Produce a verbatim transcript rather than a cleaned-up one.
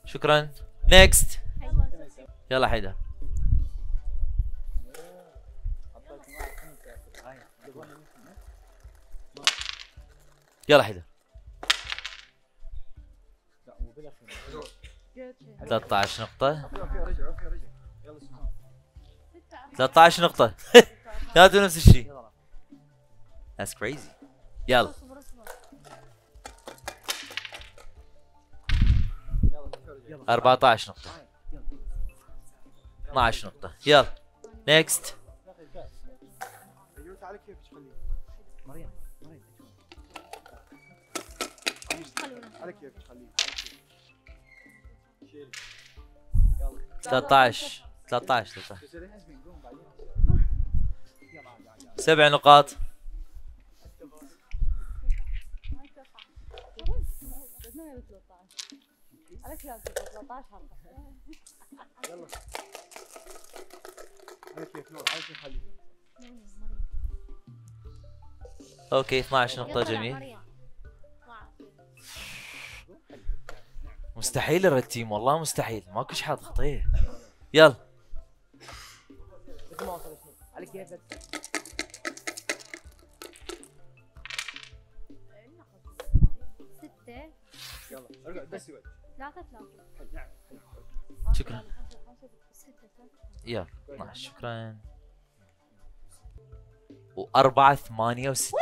شكرا. نيكست. يلا حيدر. يلا حيدر. ثلاثة عشر نقطة. ثلاثة عشر نقطة. ثلاثة نفس الشيء. That's crazy. يلا. أربعة عشر نقطة. اثنا عشر نقطة. يلا. نيكست. ثلاثة عشر ثلاثة عشر ثلاثة عشر. سبع نقاط. اوكي اثنا عشر نقطة. جميل. مستحيل الريد تيم، والله مستحيل، ماكو شي حد خطيه. يلا. ستة. يلا ارجع بس ثلاثة ثلاثة. شكرا. يلا اثنا عشر. شكرا. وأربعة ثمانية وستين.